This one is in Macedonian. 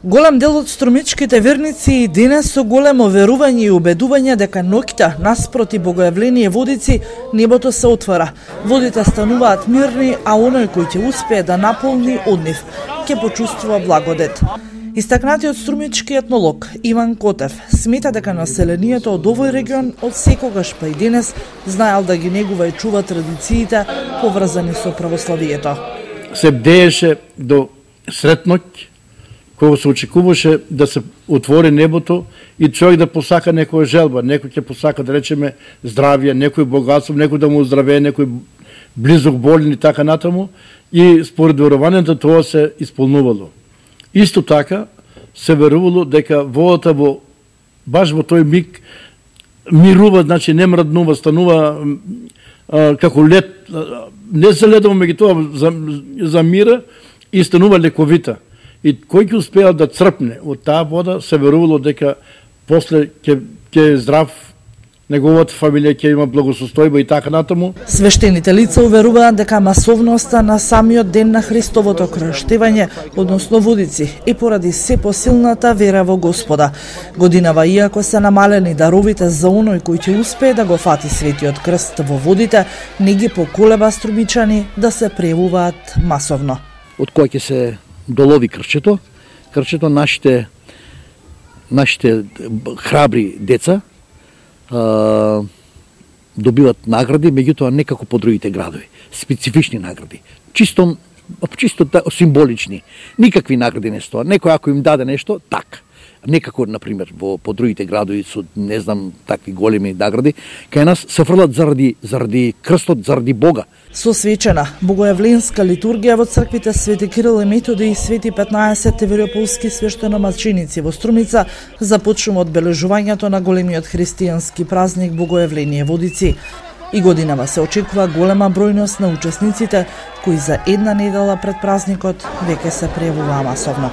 Голем дел од струмичките верници и денес со големо верување и убедување дека ноќта наспроти Богојавление Водици небото се отвара. Водите стануваат мирни, а оној кој ќе успее да наполни од нив ќе почувствува благодет. Истакнатиот струмички етнолог Иван Котев смета дека населението од овој регион од секогаш па и денес знаел да ги негува и чува традициите поврзани со православието. Се бдееше до сретноќ, кога се очекуваше да се отвори небото и човек да посака некоја желба, некој ќе посака да речеме здравје, некој богатство, некој да му оздравее, некој близок болен и така натаму, и според верувањето тоа се исполнувало. Исто така се верувало дека водата баш во тој миг мирува, значи не мрднува, станува како лед, не се ледово меѓу тоа за мира и станува лековита. И кој ќе успеал да црпне од таа вода, се верувало дека после ќе е здрав, неговата фамилија ќе има благосостојба и така натаму. Свештените лица уверуваат дека масовноста на самиот ден на Христовото крштевање, односно Водици, и поради се посилната вера во Господа. Годинава, иако се намалени даровите за оној кој ќе успее да го фати светиот крст во водите, не ги поколеба струмичани да се превуваат масовно. Од кој ќе се долови крчето нашите храбри деца добиват награди, меѓутоа не како по другите градови, специфични награди, чисто символични. Никакви награди не стоа. Некој ако им даде нешто, так. Не како, например, по другите градови со, не знам, такви големи награди, кај нас се фрлат заради крстот, заради Бога. Со свечена богојавленска литургија во црквите Свети Кирил и Методи и Свети 15 Теверополски свештеномаченици во Струмица започнува одбележувањето на големиот христијански празник Богојавление Водици. И годинава се очекува голема бројност на учесниците, кои за една недела пред празникот веќе се прејавуваа масовно.